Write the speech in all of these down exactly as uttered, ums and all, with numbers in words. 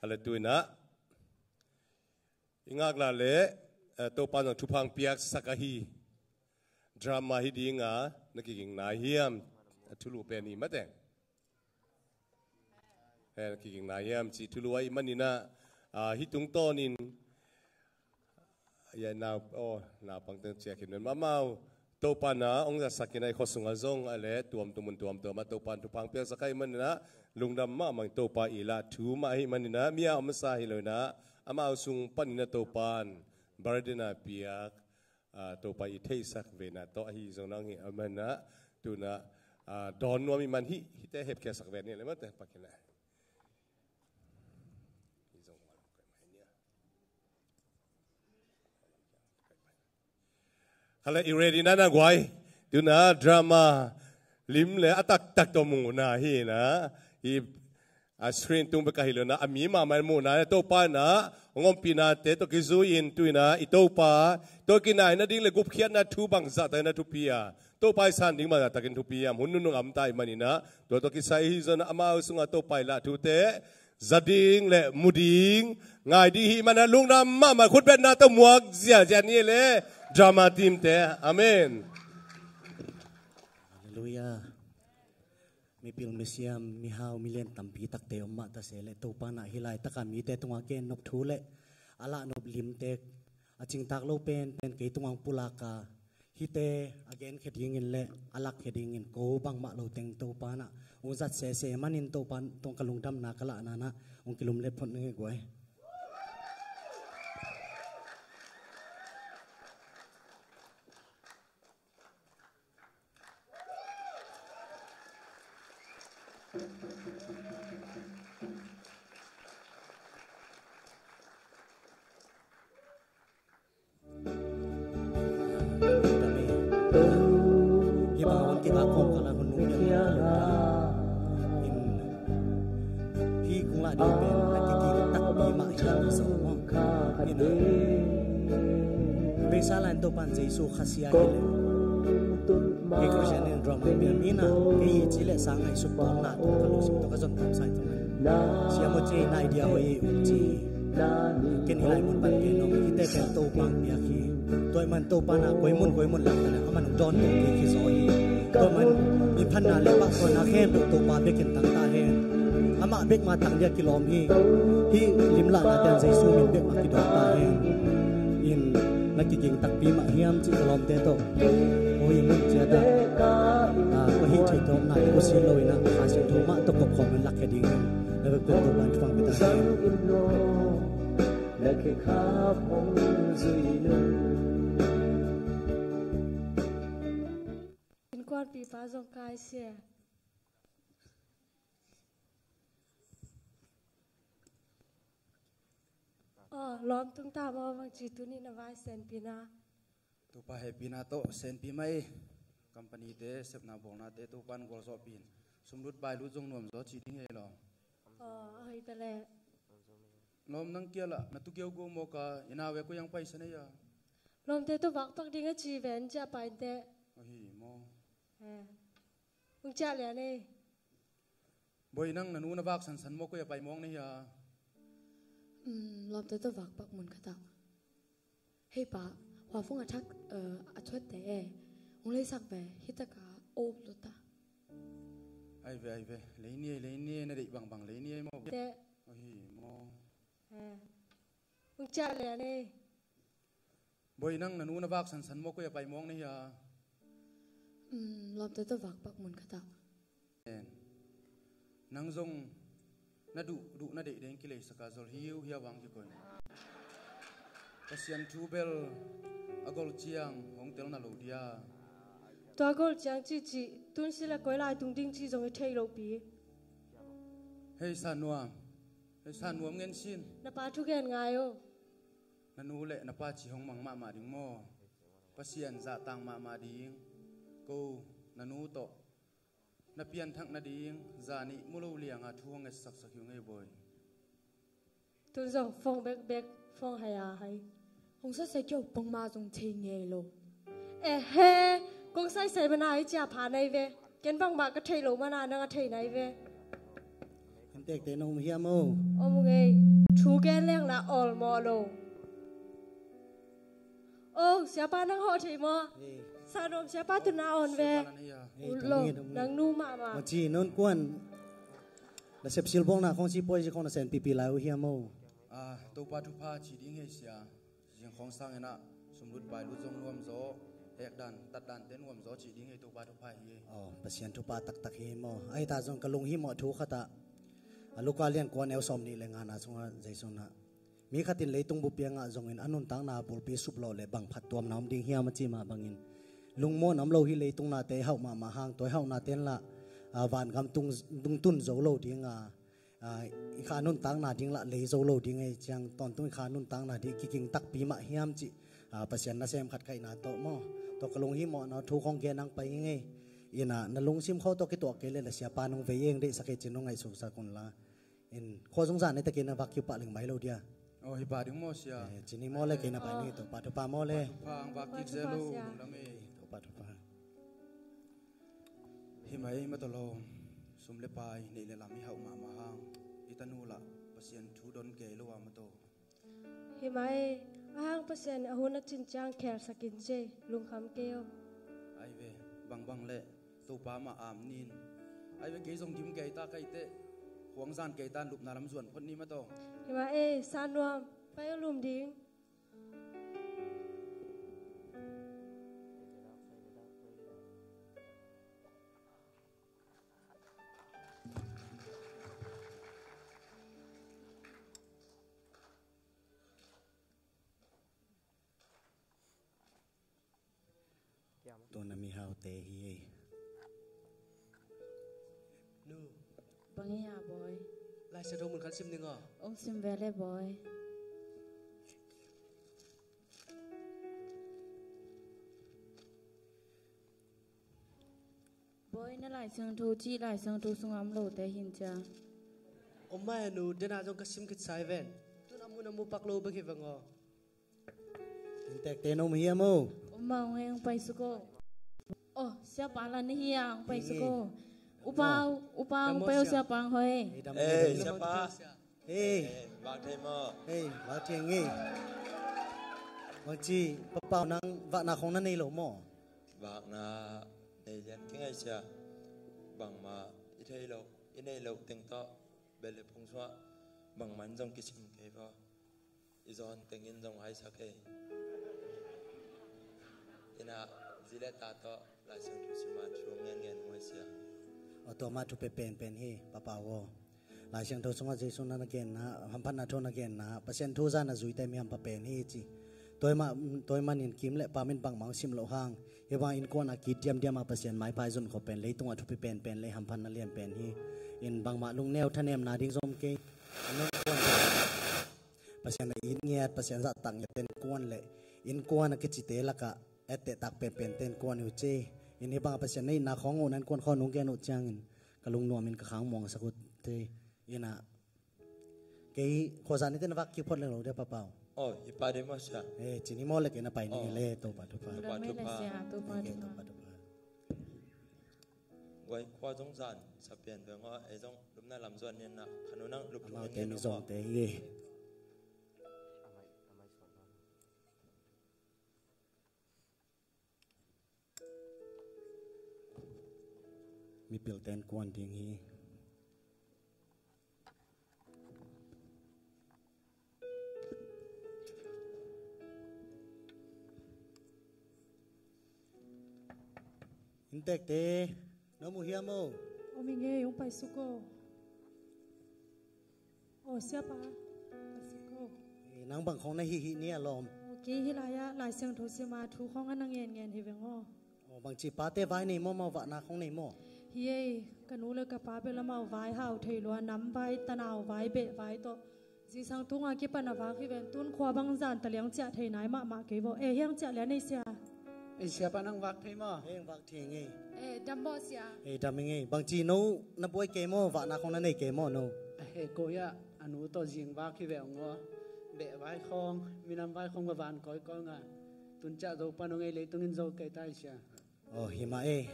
A le tuinah i ngaklah le, eh, Topa nang thupha piaksak ahi drama hi dinga na kiging nai hiam? A thulu pen hi mateng. Eh, na kiging nai hiam cih thulu ahi maninah, ah, hi tungtawnin ya nau, oh, naupang teng ciah khin men amau Topa na ong zatsak in a i khua sungah zong a le tuamtuam mun tuamtuam a Topa thupha piaksak ahi maninah lungdam mahmah in Topa i lah thu mah ahi maninah mi a om sa hi loinah amau sung paninah Topa in burden a piak, ah, Topa i theihsak vena tawh ahi zong nang hi a maninah tunah, ah, dawn nuam i man hi hite hepkhiasak ven hi le mate pakinah. Khala i ready na na guai. Tuna drama lim le a taktak tawh muhna hi na. Hi a screen tung bek a hi lo na a mi mahmah muhna na Topa na ngompihna te tawh kizui in tuina i Topa tawh kinai na ding le gupkhiatna thu bang zahtak na thupi a Topa i san ding bang zahtakin thupi a hun nunung am ta i manina tua tawh kisai hi zon amau sunga Topa i lah thute za ding le mu ding ngai ding hi mana lungdam mahmah khutbetna tawh muak ziazia ni le drama team te. Amen. Halleluia. Mipil misiam mihau milen tampi takte om mah ta se le Topa na hi laitaka mite tunga gen nop thu le a lah nop limte a cingtak lo penpen kei tunga pulaka hite a genkhia dingin le a lakkhia dingin ko bangmah lo teng Topa na ung zat sese manin Topa tong ka lungdamna ka lahna na ung kilum let phot nge guai. Hi bang a hong kibak khawm kala hun nung pian in hi kung lah ding pen na kikik takpi mah hi a mi sawm maw. In a beisa lain Topan Jesu khasia hi le kei Christian in drama pian mi na kei hi ci le sang ngaihsut tawm na tawh ka lungsim tawh ka zon tam sai tawh. Siamo ci na idea hoih um ci. Ken hi lai mun pan ken nong hite ken Topa piak hi. Tua i man Topa na koi mun koi mun lak na le a man dawn to kei khi zaw hi. Tua man min phanna le pahtawinak khempeuh Topa bekin tang ta hen. Amah bek ma tang dia kilawm hi. Hih limlahna ten Jesu min bek ma kidawk ta hen. In na kiging takpi mah hiam cih ka lawmte tawh. Ko hi mun ciat ah, ah, ko hih theih tawpna i ko si lo in ah, Kha Siangtho mah tawh kop khawm in lakkhia ding hi. Na vekpi Topa in thupha pia ta hen. Innkuanpipa zong kai se. Aw, lawm tung ta maw, bangci tuni na vai senpina. Topa hehpihna tawh senpi mai. Company te, sepna bawlna te Topan gualzawhpih in sumlut bailut zong nuamzaw ci ding hi lo. Aw, a hoih ta leh. Lawm, nang kialah na tukiau go mawka i nau e koi ang paisa nei a? Lawmte tawh vakpak ding a ci ven cia painte. Ahi maw? Eh. Ung ciah lian ei. Boi, nang na nu na vak sansan maw, koi a pai mawng na hia? Um, lawmte tawh vakpak mun khatah. Hei pa, huafung a thak, eh, a thuatte e. Ung leisak ve, hitaka o luta. Ai ve, ai ve. Leini ei, leini ei, na deih bangbang leini ei maw? Te. Ahi maw? Eh. Ung ciah lian ei. Boi, nang na nu na vak sansan maw, koi a pai mawng na hia? Um, lawmte tawh vakpak mun khatah. En. Nang zong na duh duh na deih deng kileisaka zol hiu hia vang kikoi. Pasian thu bel a gol ciang hong tel na lo dia. Tua gol ciang cihcih tun sila koi lai tung ding cih zong i thei lopi. Hei San Nuam. Hei San Nuam ngen sin. Na pa thugen ngai o. Na nu le na pa ci hong mang mahmah ding maw? Pasian zahtang mahmah ding. Ko na nu tawh na pianthak nading zani mu lo lianga thu hong etsaksak hi ung ei boi. Tun zong fong bekbek fong hai a hai. Hong sase kio pongma zong thei ngei lo. Ehe, kong saisai mana i cia pha nai ve. Ken bangmah ka thei lo mana nang a thei nai ve. Hen Tekte na um hiam o? Om ngei. Thu gen leng la awlmawh lo. O, siapa nang hawh thei maw? Ei. Sanom siapa tuna awn ve. Siapa nan hia? Ei, ut lo, tong in, tong in. Nang nu mahmah. Maci non kuan. Na sepsil bawngna khong si poi si khong na sen pipi lai uh hiam o? Ah, Topa thupha ci ding hei sia. Zing khong sang inah sumlut pailut zong nuam zaw, hekdan tatdan te nuam zaw cih ding hei, Topa thupha hi ei. Aw, Pasian thupha taktak hi maw? Ahi ta zong ka lunghimawh thu khatah a Luka lian kua neu sawm nih le ngana sungah Jesu nah mi khatin leitung bup piangah zongin a nuntakna bulpi suplawh le bang phattuamna om ding hiam a ci mah bangin lungmuan om lo hi. Leitung nate hauh mahmah hang tua i hauhna tenlah a vangam tung, tungtun zo lo dinga a, i kha nuntakna ding lah lei zo lo ding ei ciang tawntung i kha nuntakna ding kiking takpi mah hiam cih, a, Pasian nasem khat kaihna tawh maw? Tawh ka lunghimawhna thu khong gen ang pai ing ei. Inah na lungsim khawh tawh kituak kei le la siapa nung vei eng deihsak ei cin nung ngaihsuksak unla. In khua zungzan ei takin na vak kiu pah ling mai lo dia. Aw, hi pa ding maw sia? Eh, cini maw le kei na pai ni. Aw. Topa thupha maw le? Topa thupha ang vak kik zel uh, lungdam ei. Topa thupha. Hi mai, Matawlawm, sum le pai neih le lam i hauh mahmah hang i tanu lah Pasian thu don kei lo a Mataw. Hi mai, a hang Pasian a hun a cin ciang khelsak in ci ei, lungkham kei o. Ai ve, bangbang le Topa mah am nin. Ai ve, kei zong gim kei ta kaite, khuang zan kei tan lupna lam zuan phot ni Mataw. Hi mai ei, Sanuam, pai o lum ding. Tua na mihaute hi ei. Nu. Bang hi a bawi? Lai Siangtho mun khat sim ding aw. Ong sim ve le bawi. Bawi, na Lai Siangtho cih Lai Siangtho sungah om lote hin cia. Om mai a nu, dena zong ka sim khit sai ven. Tun a mun a mu pak lo bek hi veng aw. Inntekte na um hiam o? Om mah ung ei, ong pai suk o. Aw, siapa la na hi a, ong pai suk o. Upa, upa, ong pai o, siapa ang hoi. Ei, siapa. Hei. Hei, vak thei maw? Hei, vak thei ngei. Bangci, Papau nang vakna khong na nei lo maw? Vakna nei lian kei ngei sia. Bangmah i thei lo, i nei lo teng tawh bel le phung suah bangmah in zong kisim kei vaw. I zawn tengin zong haisak kei. Ina zi le ta tawh Lai Siangtho sima thu ngen ngen muai sia. Aw, tua mah thupi penpen hi, Papau aw. Lai Siangtho sungah Jesu na na genna, hamphatna thu na genna, Pasian thu zan a zuite mi hampha pen hi ci. Tua mah, tua manin kim le pam in bangmah hong sim loh hang, hi bang innkuan a kit diamdiam a Pasian maipai zon khop pen leitung a thupi penpen le hamphatna lian pen hi. In bangmah lungneu thanemna ding zom kei. Pasian a it ngiat, Pasian zahtak ngiat ten kuan le innkuan a kicite lakah etteh tak penpen ten kuan uh ci. In hi bang a Pasian na itna khawng uh nan kuan khawng nung gen uh ciangin ka lungnuam in ka khang muangsak uh te. Ina kei khuazan ite na vak kiphot leng lo dia Papau. Oh, i pa dei maw sia? Eh, cini maw le kei na pai ni le Topa thupha. Topa thupha. Topa thupha. Guai khua zong zan sa pian veng aw, ei zong lupna lam zuan nian na khanu nang lup thung nian zong te hi. Mipil ten kuan ding hi. Inntekte, na mu hiam o? Om i ngei, hong paisuk o. Aw, siapa, paisuk o. Eh, nang bang khong na hihih ni a lawm? Aw, kei hi lai-ah Lai Siangtho sima thu khong a na ngenngen hi veng aw. Aw, bangci pate vai nei maw, amau vahna khong nei maw? Hi ei, ka nu le ka pa bel amau vai hau thei lua, nam vai, tanau vai, beh vai tawh. Zingsang tunga kipan a vak hi ven, tun khua bang zan taliang ciah thei nai mahmah kei vaw. Eh, hiang ciah lian ei sia. Ei siapa nang vak thei maw? Heng vak thei ngei. Eh, dam maw sia? Eh, dam ngei. Bangci no na buai kei maw, vahna khong na nei kei maw no? A he ko ya, a nu tawh zing vak hi ve ong aw. Beh vai khong, minam vai khong va van kawikawi nga. Tun ciah zo pan ong ei, leitung in zo kei tai sia. Aw, hi mah ei.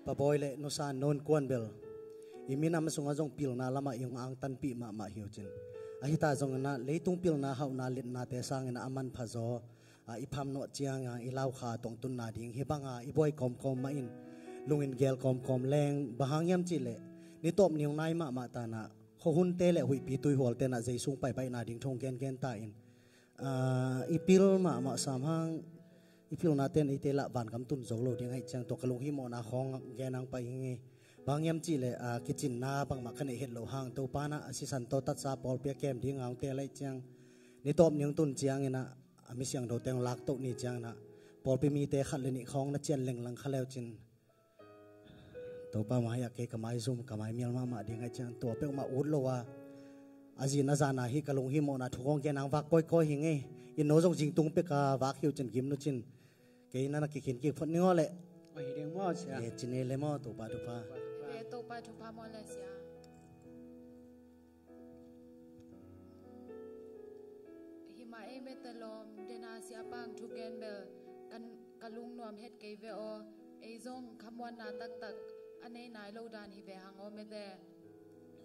Pa Bawi le nusa non kuan bel i minam sungah zong pilna lamah i hong angtanpih mahmah hi uh cin. Ahi ta zongin ah leitung pilna hauhna letnate sangin ah a manpha zaw, ah, i phamnawh ciangin ah i laukha tongtunna ding hi banga i buai kawmkawm mah in lungin gel kawmkawm leng, bang hang hiam cihleh ni tawp ni hong nai mahmah tanah khuahunte le huihpi tuihualte nah zei sung paipaihna ding thu hong gengen ta in. Ah, i pil mahmah sam hang, i pilna ten eite lah vangam tun zo lo ding ahih ciang tua ka lunghimawhna khawng gen ang pai hi ngei. Bang hiam cihleh, ah, kicinna bangmah ka neih het loh hang Topa nah a sisan tawh tatsa pawlpi a kem ding a hong teel ahih ciang ni tawp ni hong tun ciangin ah a mi siangthote hong laktoh ni ciangin ah pawlpi mite khat le nih khawng na cian lenglang kha leu cin. Topa mai-ah kei ka maizum, ka maimial mahmah ding ahih ciang tua peuhmah ut lo a, a zin a zan a hih ka lunghimawhna thu kong gen ang vak kawikawi hi ngei. In no zong zingtung pek a vak hi uh cin gim nu cin. Kei na na kikhin kik phot ning aw leh. Oi, hi ding maw sia? Eh, cin ei le maw, Topa thupha. Ve Topa thupha maw le sia. Himah ei mete lawm dena siapang thugen bel kan, ka lungnuam het kei ve aw. Ei zong khamuanna taktak a nei nai lo dan hi ve hang aw mete.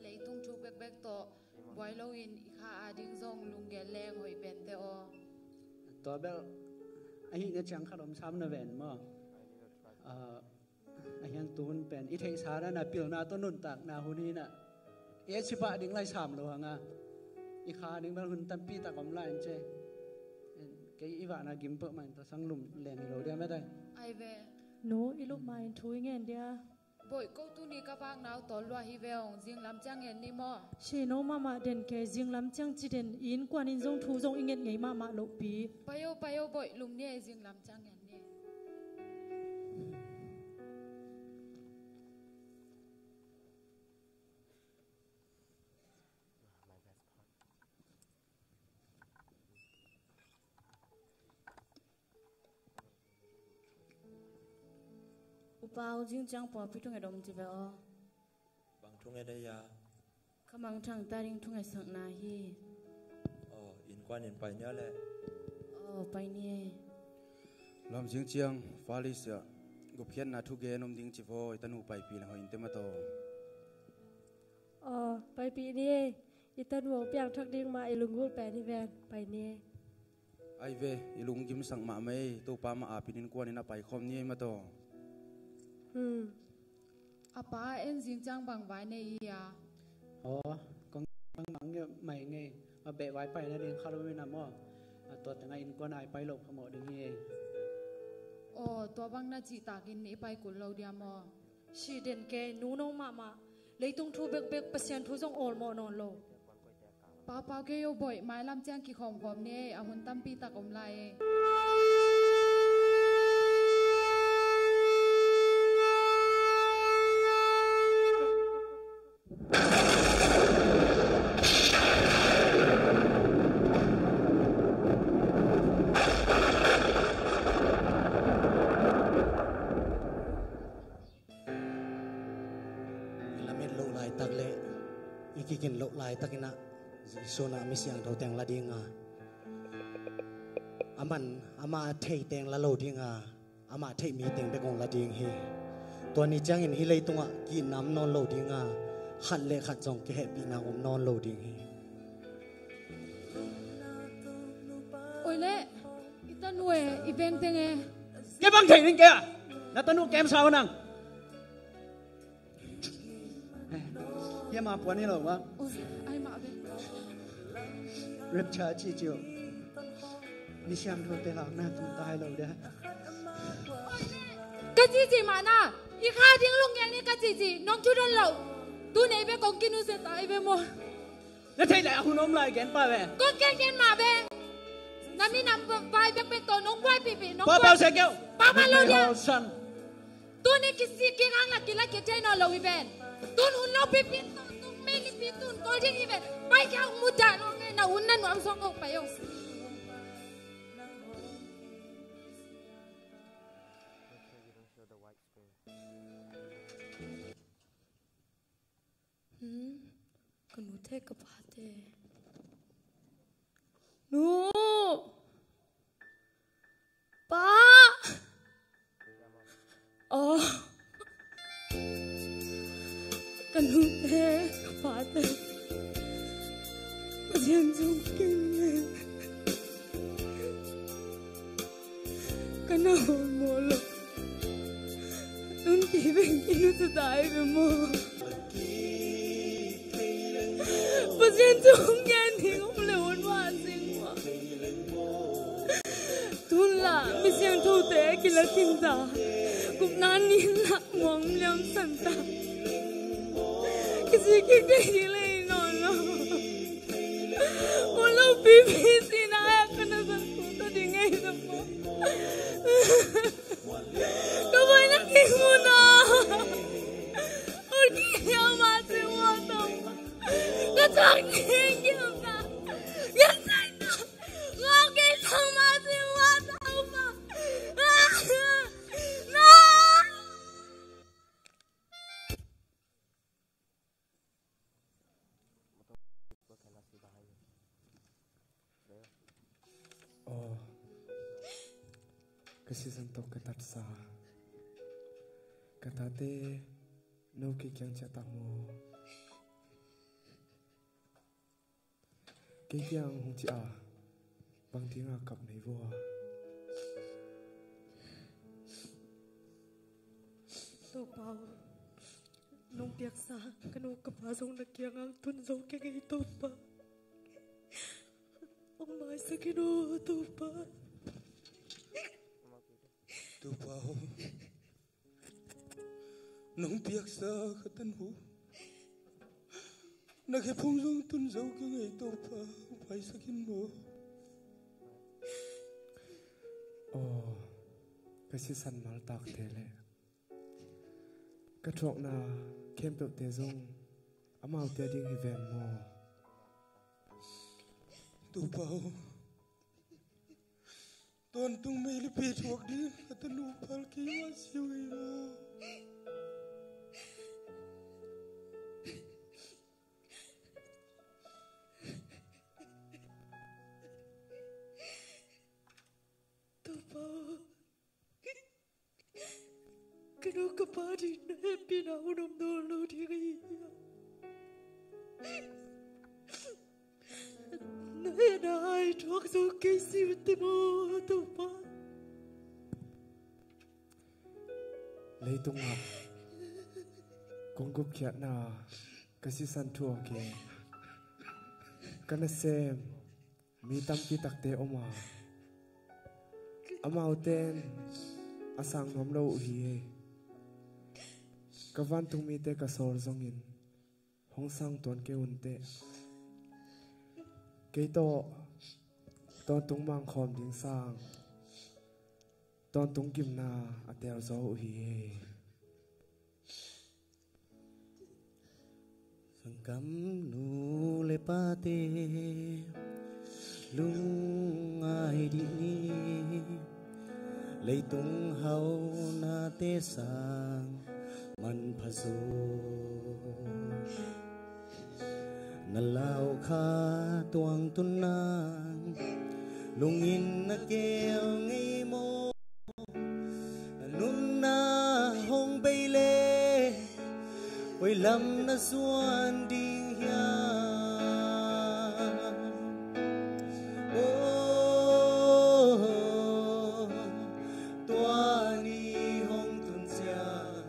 Leitung thu bekbek tawh buai loin i kha a ding zong lunggel leng hoih pente aw. Tua bel ahi na ciang khat om sam na ven maw? Ah, a hiang tuhun pen i theihsa na na pilna tawh nuntakna hun hi na. I et sipah ding lai sam lo hanga i kha ding bel hun tampi tak om lai an ce. Kei i vahna gim peuhmah in tua sang lum leng hi lo dia mete. Ai ve. Nu, i lup ma in thu i ngen dia. Boih ko tuni ka vakna uh tawl lua hi ve ong, zinglam ciang ngen ni maw? Sino mahmah den ke, zinglam ciang ci den, i innkuan in zong thu zong i nget ngei mahmah lohpi. Pai o, pai o, boih lum ni e, zinglam ciang ngen ni. Upa aw, zing ciang pawlpi thunget om ci ve aw. Bang thunget a ia? Ka mangthang ta ding thungetsakna hi. Aw, innkuan in pai nia le. Aw, pai ni. Lam zing ciang Felicia gupkhiatna thugen om ding ci vaw, i tanu paipih le hoih in te mataw. Aw, paipih ni. I tanu hong piangthak ding mah i lunggulh pen hi ven, pai ni. Ai ve, i lunggimsak mahmah ei, Topa mah apin innkuan in a paikhawm ni ei mataw. Hmm. A pa a en zing ciang bang vai nei i a? Aw, kong bang mang ngei mai ngei. A beh vai pai na ding kha lo mi na maw? A tua tengah innkuan a i pai lo phamawh ding hi ei. Aw, tua bang na cihtakin i pai kul lo dia maw? Si den kei, nu no mahmah. Leitung thu bekbek, Pasian thu zong awlmawh nawn lo. Paupau kei o boih, mailam ciang kikhawmkhawm ni ei, a hun tampi tak om lai ei. I lamet loh laitak le i kikin loh laitakin ah Jesu in ah mi siangtho teng la ding a, aman amah a thei teng la lo ding a, amah theih mi teng bek hong la ding hi. Tua ni ciangin hih leitungah kiitna om nawn lo ding a, khat le khat zong kihehpihna om nawn lo ding hi. Oi le, i tanu e, i veng teng e. Kei bang thei ning kei a, na tanu kem sa uh nang. Hiam a puan hi lo ma. Oi, ai mah ve. Rapture ci ci uh. Ni siam tho te lak na tung tai lo de. Ka cici mah na, i kha ding lunggel ni ka cici, nong thu don lo. Tu nei ve kong kinusia tai ve maw. Na theih lai a hun om lai gen pa ve. Kong gen gen mah ve. Na minam vai bekbek tawh nong buaipihpih, nong buai. Paupau se keu. Paupau lo dia. Tuni kisik kik ang la kila kithei nawn lo hi ven. Tun hun lo pipi tun, tun mei lipi tun kol ding hi ven. Pai kia hong mudah lo ngai na hun na nuam suang hong pai hong. Hmm, ka nute ka pate. Nu! Pa! Oh. Ka He, ka pate, Pasian zong keng le ka na hon maw lo. Tun kei bek i nusia ta hi ve maw? Pasian zong gen ding om le hon va sing maw? Tun la mi siangthote a kila khin ta. Gupna ni la muang liam san ta. Kisi kik dei ding le i nawn lo. Ol lo pipi sina a ka na zang tu ta ding ei na maw? Ka vai na kik mu na. Ol ki hiau ma se wa ta. Ka chak ni hiau ta. Ya sai ta. Aw, ka sisan tawh ka tatsa. Ka tate, no kei kiang ciah ta maw? Kei kiang hong ci a, bang dinga kap na hi vua? Topa aw, nong piaksa ka nu ka pa zong na kiangah tun zo keng ei Topa. Hong maisak in aw Topa. Topa aw, nong piaksa ka tanu, na khephung zong tun zo keng ei Topa, maisak in maw? Aw, ka sisan maltakte le ka thuakna khempeuhte zong amaute a ding hi ven maw? Topa aw, tawntung meilipi thuak ding ka tanu phal kei mah si uh hi maw? Topa aw, ka nu ka pa ding na hehpihna hun om nawn lo ding ahi hiam? Na hehna a thuak zo kei si uh teh maw Topa? Leitungah kong gupkhiatna ka sisan thuak hi. Ka nasem mi tampi takte om a, amaute in a sang nuam lo uh hi. Ka vantung mite ka sawl zongin hong sang tuan kei un teh. Kei tawh tawntung mangkhawm ding sang tawntung gimna a teel zaw uh hi. Sanggam nu le pate lungngai dih ni. Leitung haunate sang manpha zaw. Na lau kha tuang tun nang lungin na keu ngei maw? Na nunna hong bei le koi lam na zuan ding hiam? Oh, tua ni hong tun ciang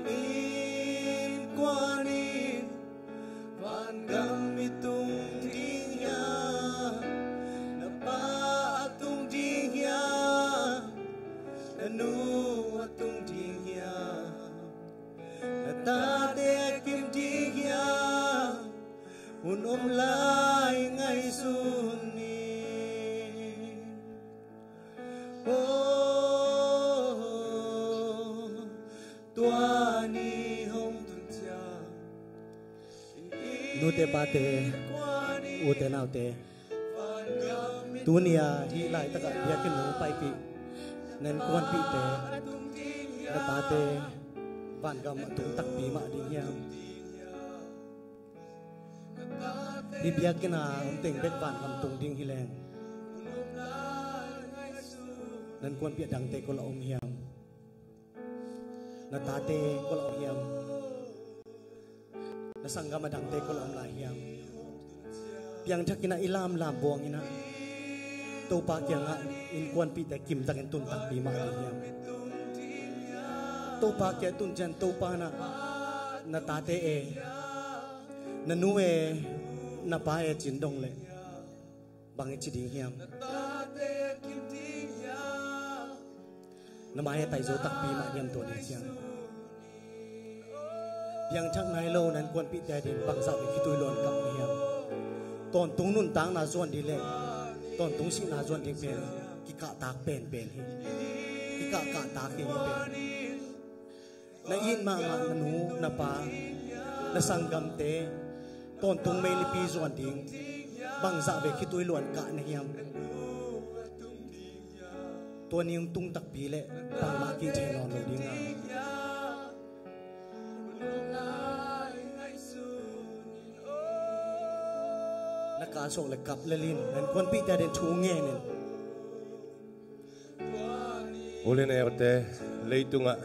i innkuan in vangam i tung ding hiam? Na pa a tung ding hiam? Na nu a tung ding hiam? Na tate a kim ding hiam? Hun om lai ngaihsun ni. Oh, tua ni hong tun ciang nute pate, ute naute, tuni a hih laitakah biakinn hong paipih, na innkuanpihte, na tate vangam a tung takpi mah ding hiam? Hih biakinn a om teng bek vangam tung ding hi leng, na innkuanpih a dangte koi la om hiam? Na tate koi la om hiam? Na sanggam a dangte kua lam lai hiam? Piangthak in ah i lamlam buang in ah Topa kiangah innkuanpihte kimtakin tun takpi mah ding hiam? Topa kiangah tun ciang Topa in ah na tate e, na nu e, na pa e cin dong leh bang i ci ding hiam? Na mai a tai zo takpi mah diam tua ni ciang? Piangthak nai lo na innkuanpihte ading bangzah bek khitui luan kap na hiam? Tawntung nuntakna zuan ding leh tawntung sihna zuan ding pen kikahtak penpen hi. Kikahkahtak hi hi pen. Na it mahmah na nu na pa, na sanggamte tawntung meilipi zuan ding bangzah bek khitui luan kah na hiam? Tua ni hong tung takpi leh bangmah kithei nawn lo ding a, na ka sawk le kap le lin, na innkuanpihte ading thu ngen in. U le naute, leitungah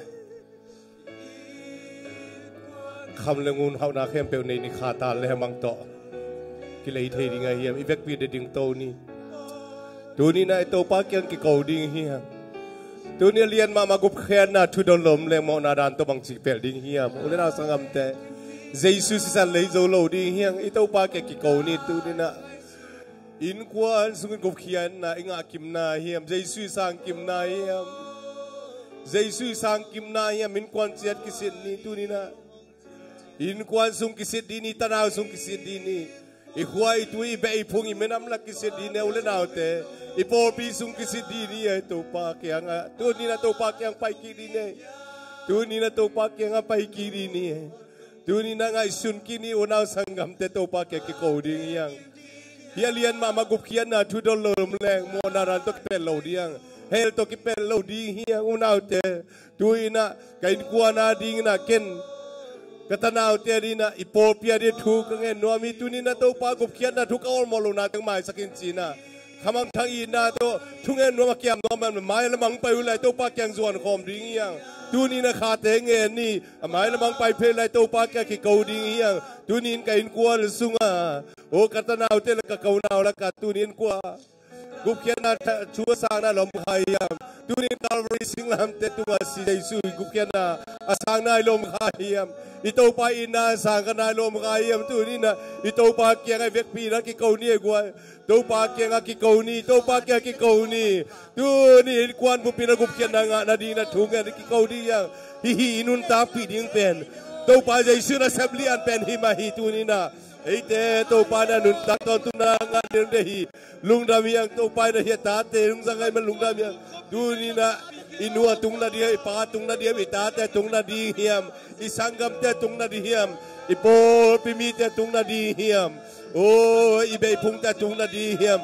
kham le ngun hauhna khempeuh nei ni kha ta le hemang tawh kilei thei ding a hiam? I vekpi de ding to ni. Tuni na i Topa kiang kiko ding hiam? Tuni a lian mahmah gupkhiatna thu dong lom leng mawhna dan tawh bangci pel ding hiam? U le nau sanggamte, Jesu sisan lei zo lo ding hiam? I Topa kiang kiko ni. Tuni na innkuan sungin gupkhiatna i ngah kimna hiam? Jesu i sang kimna hiam? Jesu i sang kimna hiam? Innkuan ciat kisit ni. Tuni na innkuan sung kisit dih ni, tanau sung kisit dih ni. I khua, i tui, i beh, i phung, i minam lak kisit dih ni, u le naute. I pawlpi sung kisit dih ni, eh, Topa kiangah. Tuni na Topa kiang pai kik dih ni. Tuni na Topa kiangah pai kik dih ni. Tuni na ngaihsun kik ni, unau sanggamte, Topa kiang kiko ding hiam? Hih a lian mahmah gupkhiatna thu dong lom leng mawhna dan tawh kipel lo ding hiam? Hell tawh kipel lo ding hiam, unaute? Tuni na ka innkuan ading in ah ken ka tanaute ading in ah i pawlpi ading thu ka ngen nuam hi. Tuni na Topa gupkhiatna thu ka awlmawh lohna teng maisak in ci na. Khamangthang itna tawh thungen nuam a kiam nuam a, mai lamang pai uh lai Topa kiang zuan khawm ding hiam? Tuni na khate ngen ni, a mai lamang pai phei lai Topa kiang kiko ding hiam? Tuni in ka innkuan sunga, o ka tanaute le ka konau laka tuni in kua gupkhiatna thu a sangna lom kha hiam? Tuni in Calvary singlamteh tunga si Jesu i gupkhiatna a sangna i lom kha hiam? I Topa itna a sangna i lom kha hiam? Tuni na i Topa kiangah i vekpi na kiko ni e guai. Topa kiangah kiko ni, Topa kiangah kiko ni. Tuni innkuan buppi na gupkhiatna ngah nading na thu ngen kiko ding hiam? Hih i nuntakpih ding pen Topa Jesu nasep lian pen hi mah hi. Tuni na eite Topa na nuntak tawntung na ngah ding de hi. Lungdam hiang Topa in a hih a tate lungzang ai man lungdam hiang. Tuni na i nu a tung nading hiam, i pa a tung nading hiam, i tate a tung nading hiam, i sanggamte a tung nading hiam, i pawlpi mite a tung nading hiam? O, i beh i phungte a tung nading hiam?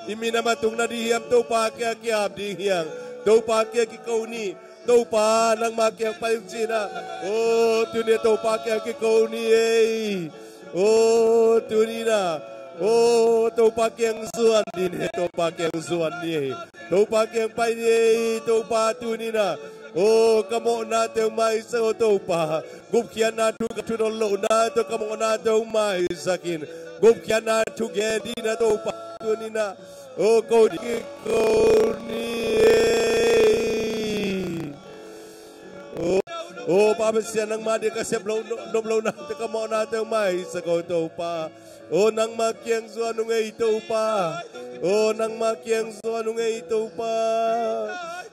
I minam a tung nading hiam? Topa kiang kiam ding hiam? Topa kiang kiko ni. Topa nangma kiang pai ung ci na. O, tuni a Topa kiang kiko ni ei. O, tuni na. O, Topa kiang zuan ni ei. Topa kiang zuan ni ei. Topa kiang pai ni ei. Topa tuni na. O, ka mawhna teng maisak o Topa. Gupkhiatna thu ka thu dong lohna tawh ka mawhna teng maisak in. Gupkhiatna thu gen ding na Topa tuni na. O, ko ding ko ni ei. O, o Pa Pasian, nangma ding ka sep lo, nop lo nate ka mawhna teng maisak o Topa. O, nangma kiang zuan ung ei Topa. O, nangma kiang zuan ung ei Topa.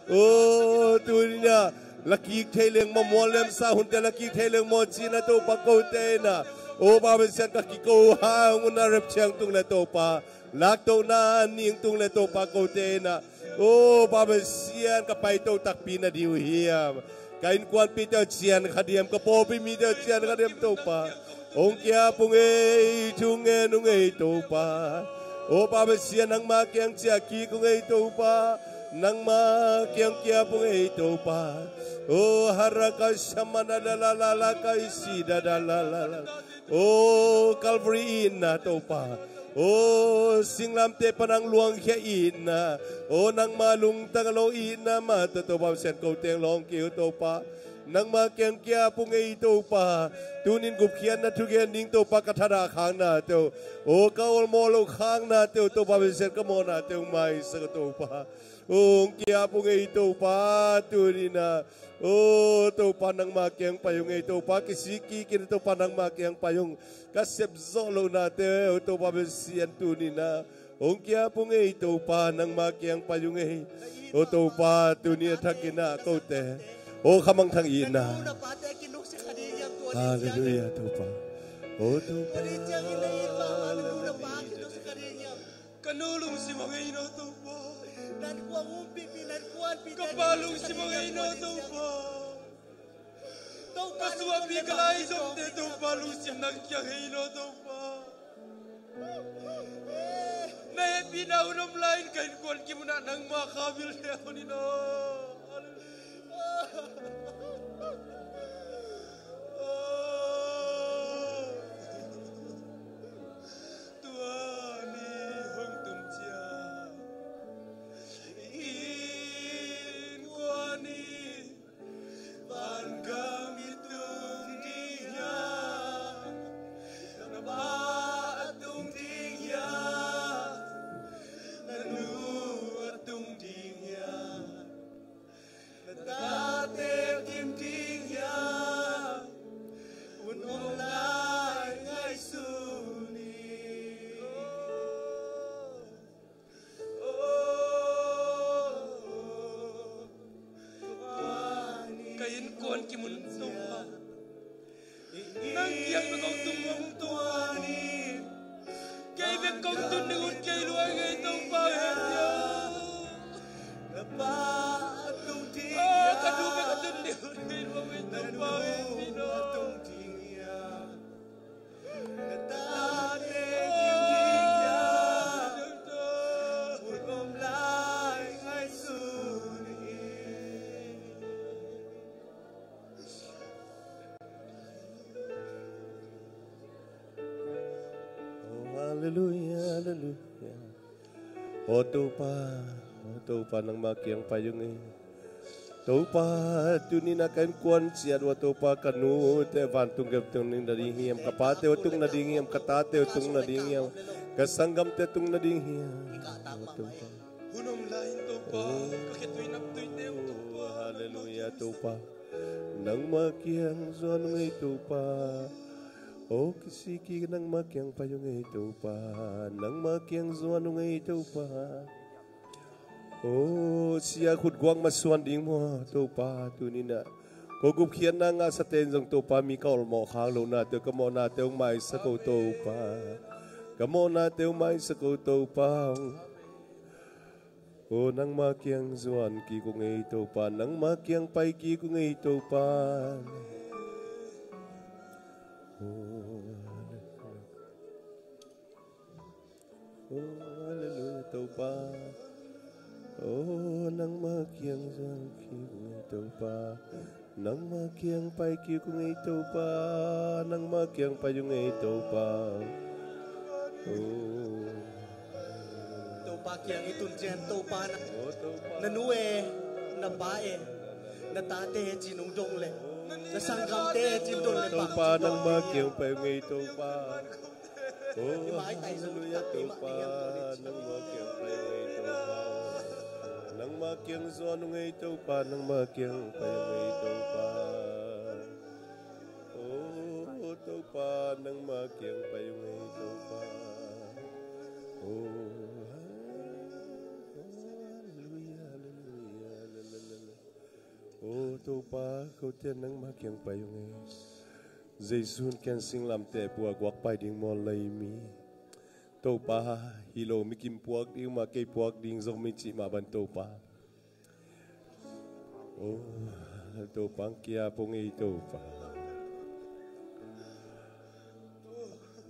O, tuni na lakik thei leng maw, mual lemsa hunte lakik thei leng maw ci na Topa kote na. O Pa Pasian, ka kiko hang un a rep ciang tung le Topa, laktohna ning tung le Topa kote na. O Pa Pasian, ka paito takpi na ding uh hiam? Ka innkuanpihte uh cian kha diam, ka pawlpi mite uh cian kha diam Topa? Hong kiap ung ei, thu ngen ung ei Topa. O Pa Pasian, nangma kiang ciah kik ung ei Topa. Nangma kiang kiap ung ei Topa. O haraka samana da la la la kaisi da da la la la. O Calvary itna Topa. O singlamteh pan hong luangkhia itna. O nangma lungtang a lo itna mah tawh Topa Pasian, ko teng lawng kei uh Topa. Nangma kiang kia pung ei Topa. Tunin gupkhiatna thugen ding Topa ka thadah khakna teu, o ka olmawh loh khakna teu Topa, besiat ka mawhna teu maisak Topa. O hong kia pung ei Topa, tuninah. O Topa, nangma kiang pai ung ei Topa, kisik kikin Topa, nangma kiang pai ung. Ka sepzawh lohna teu Topa, besian tuninah. Hong kia pung ei Topa, nangma kiang pai ung ei. O Topa, tuni a thakinah kote, o khamangthang itna. Halleluia Topa. O Topa. Ka nu lungsim a ngei no Topa. Ka pa lungsim a ngei no Topa. Ka suahpi ka laizomte Topa, lungsim nang kiang hei no Topa. Na hehpihna hun om lai-in ka innkuan kimunah nangma kha vil le hun in aw. Tua ni hong tun ciang innkuan in vangam i tung ding hiam? Na pa a tung ding hiam? Na nu a tung ding hiam? Na tate a kim ding hiam? Hun om lai ngaihsun in. Ka innkuan kimun Topa, nang kiang bek kong tung mawk Topa. Kei bek kong tun ding ut kei lua ngei Topa, hehpih aw. Ka nu bek a tun ding ut kei lua ngei Topa, hehpih aw. Oh, halleluia, halleluia. O Topa, o Topa, nangma kiang pai ung ei. Topa, tuninah ka innkuan ciat uh a Topa, ka nute vantung gei tung nading hiam, ka pate uh tung nading hiam, ka tate uh tung nading hiam, ka sanggamte tung nading hiam. O Topa. Hun om lai-in Topa, ka khitui naptuite uh Topa. Halleluia Topa. Nangma kiang zuan ung ei Topa. O kisiki nangma kiang pai ung ei Topa. Nangma kiang zuan ung ei Topa. O sia khutguak masuan ding maw Topa, tuninah ko gupkhiatna ngahsate in zong Topa, mi ka olmawh khak lohna teu, ka mawhna teu maisak ko Topa. Ka mawhna teu maisak ko Topa. O nangma kiang zuan kik ung ei Topa, nangma kiang pai kik ung ei Topa. O Oh, halleluia, Topa. Oh, nangma kiang zuan kik ung ei Topa. Nangma kiang pai kik ung ei Topa. Nangma kiang pai ung ei Topa. Oh. Topa kiang i tun ciang Topa na, oh, Topa, na nu e, na pa e, na tate e ci-in hong dong leh, na sanggamte e ci-in dong leh, Topa, nangma kiang pai ung ei Topa. Oh, halleluia, Topa, nangma kiang pai ung ei Topa. Nangma kiang zuan ung ei Topa, nangma kiang pai ung ei Topa. Oh, Topa, nangma kiang pai ung ei Topa. Oh, halleluia, halleluia, halleluia. Oh, Topa, kote nangma kiang pai ung ei. Jesu'n ken singlamteh pua guak pai ding maw lei mi. Topa, hi lo mi kim puak ding mah, kei puak ding zong mi cih mah bang Topa. Oh, Topa hong kia pung ei Topa.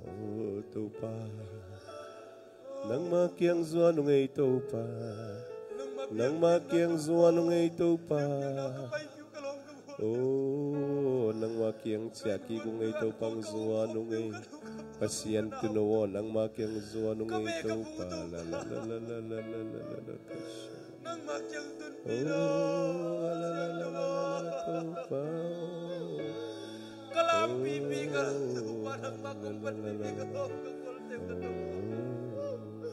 Oh, Topa. Nangma kiang zuan ung ei Topa. Nangma kiang zuan ung ei Topa. Oh, nangma kiang ciah kik ung ei Topa, hong zuan ung ei. Pasian Tuuno aw, nangma kiang zuan ung ei Topa. La, la, la. Nangmah kiang tunpih lo. Siangtho aw, ka lampipi ka, Topa, nangmah kong panpipi ka, ka kolte ka, Topa.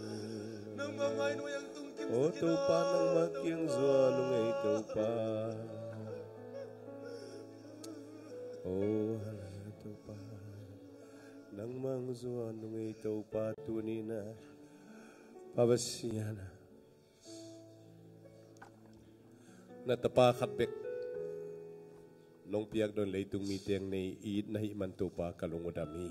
Nangmah mai nuai ang tungkim, Topa, nangmah kiang zuan ung ei, Topa. Aw, Topa, nangmah ang zuan ung ei, Topa, tuni-in ah, Pa Pasian ah, na tapa khat bek nong piak dong leitung mite in nei it na hih man, Topa, ka lung uh dam hi.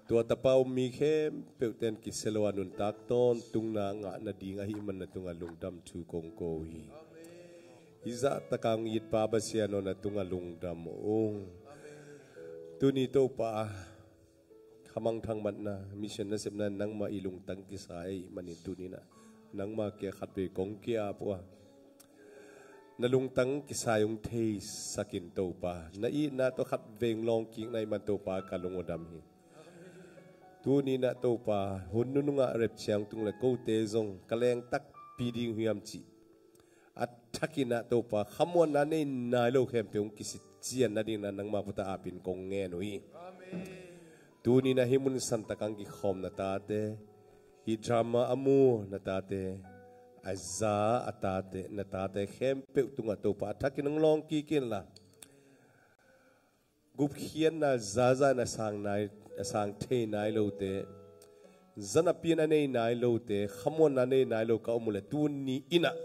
Tua tapa um mi khempeuh ten kisia lo a nuntak tawntungna ngah nading ahih man na tungah lungdam thu kong ko hi. Hih zahtak a hong it Pa Pasian aw, na tungah lungdam ung. Tuni, Topa, khamangthang matna, mission nasepna nangmah i lungtang kisai ahih manin tuni-in ah nangmah kiang khatvei kong ki-ap uh a, na lungtang kisai hong theisak in, Topa. Na itna tawh khatvei hong lawng kik na hih man, Topa, ka lung uh dam hi. Tuni-in ah, Topa, hun nunung ah Rapture hong tung leh kote zong ka leng takpi ding uh hiam cih a thakin ah, Topa, khamuanna nei nai lo khempeuh hong kisitcian nadingin ah nangmah khut ah ap in kong ngen uh hi. Tuni-in ah hih mun santak ah hong kikhawm na tate, hih drama a mu na tate, a za a tate, na tate khempeuh tungah, Topa, a thakin hong lawng kik inla, gupkhiatna zaza in a sang nai, a sang thei nai lote, zanapi in a nei nai lote, khamuanna nei nai lo ka om uh leh, tuni-in ah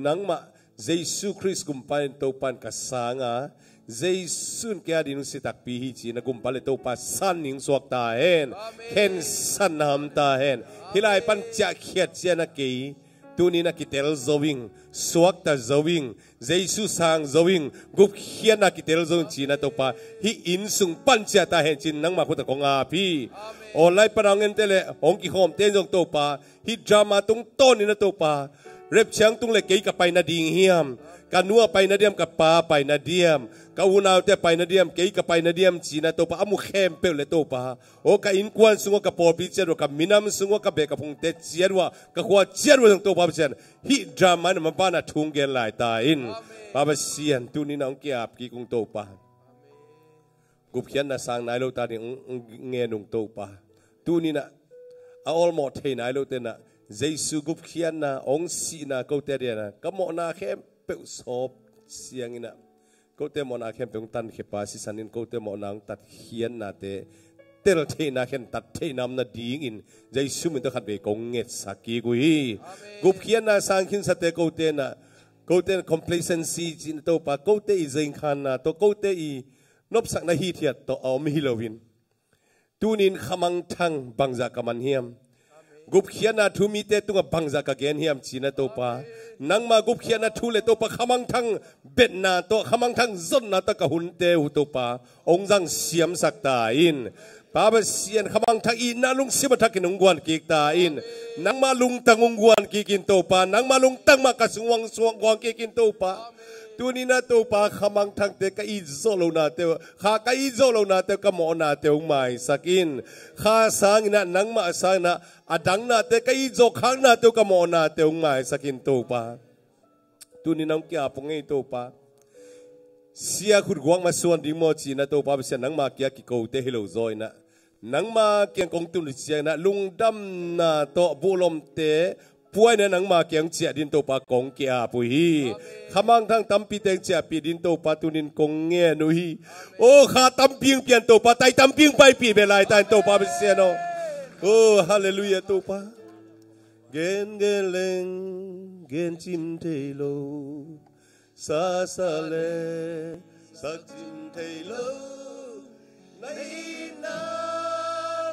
nangmah Jesu Khrist Gumpa in Topa in ka sang a, Jesu in kei adingin hong si takpi hi ci-in ah Gumpa leh Topa san'na hong suak ta hen. Amen. Khensatna om ta hen. Hih lai pan ciahkhiat ciang ah kei tuni-in ah kitel zo ing, suakta zo ing, Jesu sang zo ing, gupkhiatna kitel zo ing ci-in ah, Topa, hih inn sung pan ciah ta hen ci-in nangmah khut ah kong ap hi. Online pan a hong ente leh hong kikhawmte in zong, Topa, hih drama tungtawnin ah, Topa, Rapture hong tung leh kei ka pai nading hiam, ka nu a pai na diam, ka pa a pai na diam, ka unaute a pai na diam, kei ka pai na diam ci-in ah, Topa, a mu khempeuh leh, Topa, aw, ka innkuan sung uah, ka pawlpi ciat uah, ka minam sung uah, ka beh ka phungte ciat uah, ka khua ciat uah zong, Topa Pasian, hih drama in a maban a thu hong gen lai ta in. Amen. Pa Pasian, tuni-in ah hong ki-ap kik ung, Topa. Gupkhiatna sang nai lote ading hong, hong ngen ung, Topa. Tuni-in ah a awlmawh thei nai lote in ah Jesu gupkhiatna, hong sihna, kote ading ah ka mawhna khempeuh sawp siangin ah, kote mawhna khempeuh hong tankhia Pa, sisan in kote mawhna hong tatkhiatnate tel theihna, khentat theihna om nadingin Jesu min tawh khatvei kong ngetsak kik uh hi. Amen. Gupkhiatna sang khinsate kote in ah, kote in complacency ci-in ah, Topa, kote i zengkhanna tawh, kote i nopsakna hithiat tawh a om hi loin, tuni-in khamangthang bangzah ka man hiam? Gupkhiatna thu mite tungah bangzah ka gen hiam ci-in ah, Topa, nangmah gupkhiatna thu leh, Topa, khamangthang betna tawh, khamangthang zonna tawh ka hunte uh, Topa, hong zang siamsak ta in. Pa Pasian, khamangthang itna lungsim a thakin hong guan kik ta in. Nangmah lungtang hong guan kik in, Topa. Nangmah lungtang mah ka sung uah suang guan kik in, Topa. Tuni-in ah, Topa, khamangthangte, ka it zawh lohnate uh, kha ka it zawh lohnate uh, ka mawhnate uh hong maisak in. Kha sangin ah, nangmah sangin ah, a dang nate, ka it zawh khaknate uh, ka mawhnate uh hong maisak in, Topa. Tuni-in ah hong ki-ap ung ei, Topa. Sia khutguak masuan ding maw ci-in ah, Topa Pasian, nangmah kiang kikote hi lo zaw in ah, nangmah kiang kong tun uh ciangin ah lungdamna tawh buhlomte puaina nangmah kiang ciah dingin, Topa, kong ki-ap uh hi. Amen. Khamangthang tampite hong ciahpih dingin, Topa, tuni-in kong ngen uh hi. Aw, kha tampi hong pia in, Topa, tai tampi hong paipih beh lai ta in, Topa Pasian aw. Aw, halleluiah, Topa. Gen gen leng gen cim thei lo, sasa leng sak cim thei lo. Na itna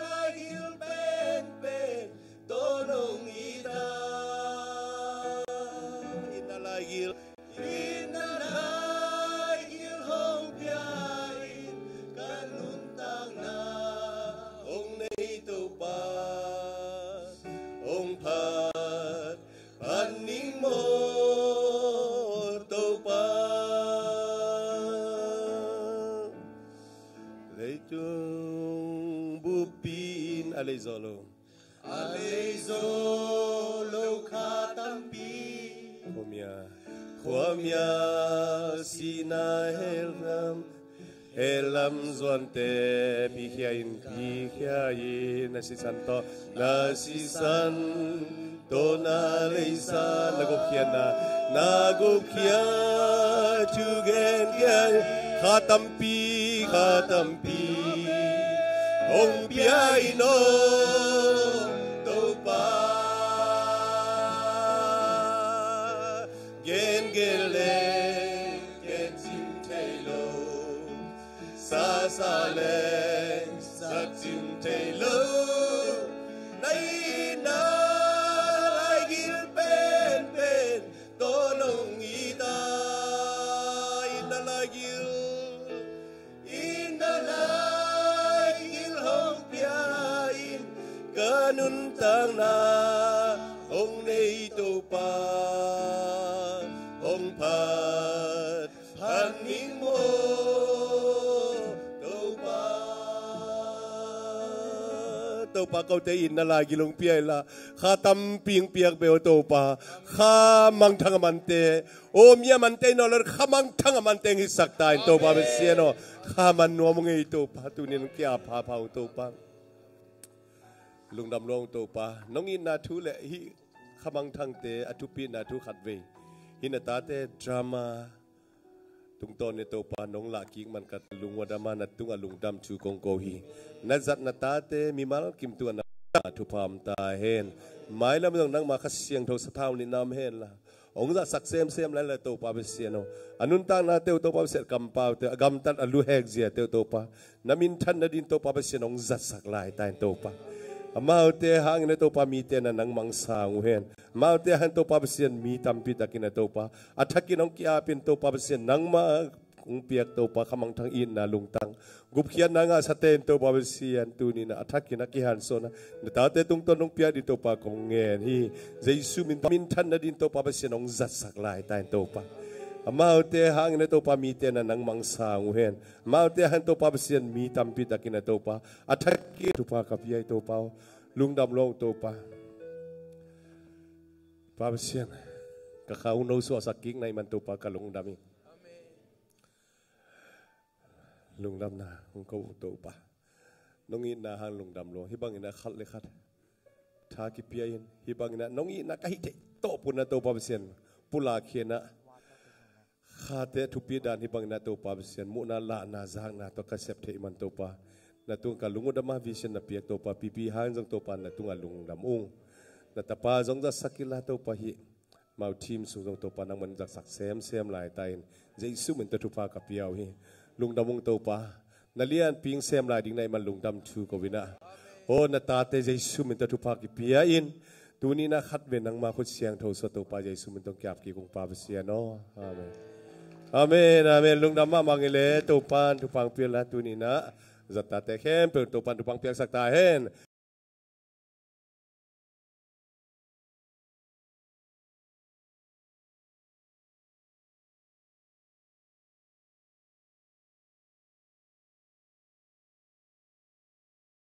laigil penpen tawh nong it a, itna laigil, itna laigil hong pia in, ka nuntakna hong nei Topa, hong phat phat ning maw Topa. Leitung buppi in a lei zawh lo, A lei zo lo kha tampi. Khuamia, khuamia sihna hel lam, hel lam zuante pikhia in, pikhia in, na sisan tawh, na sisan tawh na leisa, na gupkhiatna, na gupkhiat thu gen, gen, kha tampi, kha tampi hong pia in aw Topa. Gen, gen le gen cing thei lo, sa, sa le sak cing thei lo. Na itna laigil penpen tawh nong it a, itna laigil, itna laigil hong pia in, ka nuntakna hong nei Topa, hong phat phat ning maw Topa. Topa, kote itna laigil hong pia inla, kha tampi hong piak beh aw Topa. Kha mangthang a mante, aw mi a mante in aw lo, kha mangthang a mante hong hisak ta in Topa Pasian aw. Kha man nuam hong ei Topa, tuni in hong kia pha pha hong Topa. Lungdam lo hong Topa, nong itna thu le hih kha mangthangte a thupina thu khat vei, hih na tate drama tungtawn in Topa nong lah kik man ka lung ua dam a, na tungah lungdam thu kong ko hi. Na zat na tate mimal kim tungah na thupha om ta hen. Mailam zong nangma Kha Siangtho sathau nihna om henla, hong zatsak semsem lai la Topa Pasian aw. A nuntaknate uh Topa Pasian, kampaute uh, a gamtat a luhek ziate uh Topa, na minthan nading Topa Pasian hong zatsak lai ta in Topa. Amaute hangin a Topa mite na nang mangsa uh hen. Amaute hangin Topa Pasian mi tampi takin a Topa, a thakin hong kiapin Topa Pasian nangma hong piak Topa kha mangthang itna lungtang, gupkhiatna ngahsate in Topa Pasian, tuni in a thakin a kihansuahna na tate tungtawn hong piak ding Topa kong ngen hi. Jesu min, minthan nading Topa Pasian hong zatsak lai ta in Topa. Amaute hangin a Topa mite na nang mangsa uh hen. Amaute hangin Topa Pasian mi tampi takin a Topa, a thakin thupha ka pia hi Topa aw. Lungdam lo hong Topa. Pa Pasian, ka kha hong no suahsak kik na hih man Topa ka lungdam hi. Lungdamna hong ko uh Topa. Nong itna hang lungdam lo, hih bangin a khat le khat tha kipia in, hih bangin a nong itna ka hih theih tawh pun a Topa Pasian pulak khin a, khate a thupi dan hih bangin a Topa Pasian muhna lahna zakna tawh ka sep theih man Topa, na tung ka lung uh dam a vision na piak Topa, pipi hang zong Topa na tungah lungdam ung. Na tapa zong zatsak inla Topa, hih mau team sung zong Topa nangman zatsak semsem lai ta in, Jesu min tawh thupha ka pia uh hi. Lungdam ung Topa, na lianpi hong sem lai ding na hih man lungdam thu ko in a, aw na tate Jesu min tawh thupha kipia in, tuni in a khat vei nangma khut siangtho sung Topa Jesu min tawh hong kiap kik ung Pa Pasian aw. Amen. Amen, amen. Lungdam mahmah ing ei le, Topa in thupha hong pia inla, tuni in a zat tate khempeuh Topa in thupha hong piaksak ta hen.